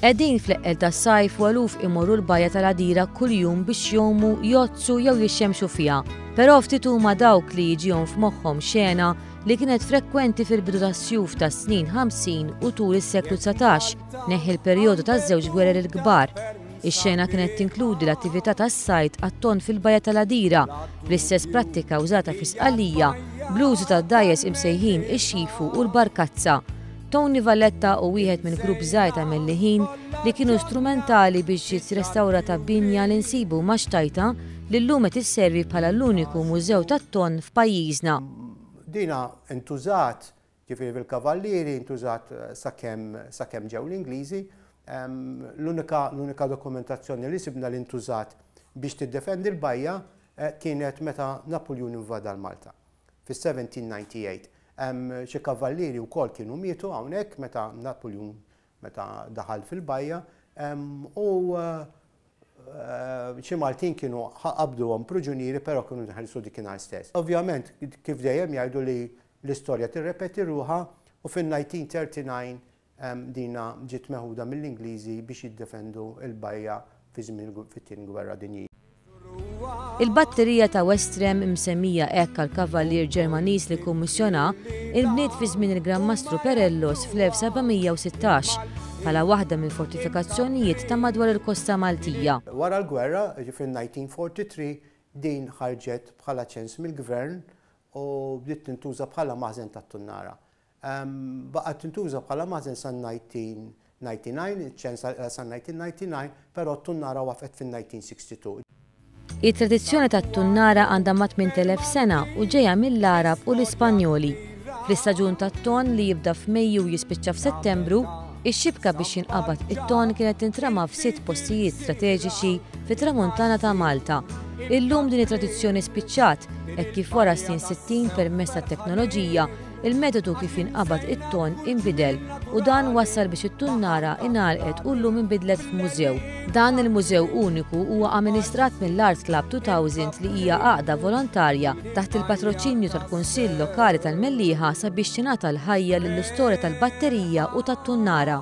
Qegħdin fl-eqqel tas-sajf u eluf imorru l-bajja tal-Għadira kuljum biex jgħumu, jgħoddsu jew jixxemxu fiha. Però ftit huma dawk li jiġihom f'moħħhom xena li kienet frekwenti fil-bidu tas-sjuf tas-snin 50 u tul is-seklu 19, neħħi l-perjodu taż-żewġ gwerer il-kbar. Ix-xena kienet tinkludi l-attività tas-sajd għat-tonn fil-Bajja tal-Għadira, bl-istess prattika użata fi Sqallija, bl-użu tad-dgħajjes imsejħin ix-xifu u l-barkazza. Tony Valletta hu wieħed minn grupp żgħir ta' Melliħin li kienu strumentali biex ġiet restawrata binja li nsibu ma' xtajta li llum qed isservi bħala l-uniku mużew tat-tonn f'pajjiżna. Dina ntużat Ġifieri fil-Kavallieri ntużat sakemm sakemm ġew l-Ingliżi. L-unika l-unika dokumentazzjoni li sibna li ntużat biex tiddefendi l-bajja kienet meta Napuljun invada l-Malta fis-1798. Xi kavallieri wkoll kienu mietu hawnhekk meta Napuljun meta daħal fil-bajja u xi Maltin kienu qabduhom pruġunieri però kienu nħelsu dikinhar stess. Ovvjament, kif dejjem jgħidu li l-istorja tirrepeti ruħha u fin-1939 dina ġiet meħuda mill-Ingliżi biex jiddefendu l-bajja fi żmien fit-Tieni Gwerra Dinjija. Il-batterija ta' Westrem, imsemmija hekk għall-kavallier Ġermaniż li kkummissjonha, inbniet fi żmien il-Gran Mastru Perellos fl-1716 bħala waħda mill-fortifikazzjonijiet ta' madwar il-kosta Maltija. Wara l-gwerra, jiġifieri 1943, din ħarġet bħala ċens mill-gvern u bdiet tintuża bħala maħżen tat-tunnara. Baqgħet tintuża bħala maħżen sa 1999, iċ-ċens sa 1999, però t-tunnara waqfet fin-1962. It-tradizzjoni tat-tunnara għandha ma' 8,000 sena u ġejja mill-Għarab u l-Ispanjoli. Fl-istaġun tat-tonn li jibda f'Mejju u jispiċċa f'Settembru, ix-xibka biex jinqabad it-tonn kienet tintrama f'sitt postijiet strateġiċi fit-Tramuntana ta' Malta. Illum din it-tradizzjoni spiċċat, hekk kif wara s-snin 60 permezz tat-teknoloġija, Il-metodu kif jinqabad it-tonn inbidel u dan wassal biex it-tunnara ingħalqet u llum inbidlet f'mużew. Dan il-mużew uniku huwa amministrat mill-Art Club 2000 li hija għaqda volontarja taħt il-patroċinju tal-Kunsill Lokali tal-Mellieħa sabiex tingħata l-ħajja lill-istorja tal-batterija u tat-tunnara.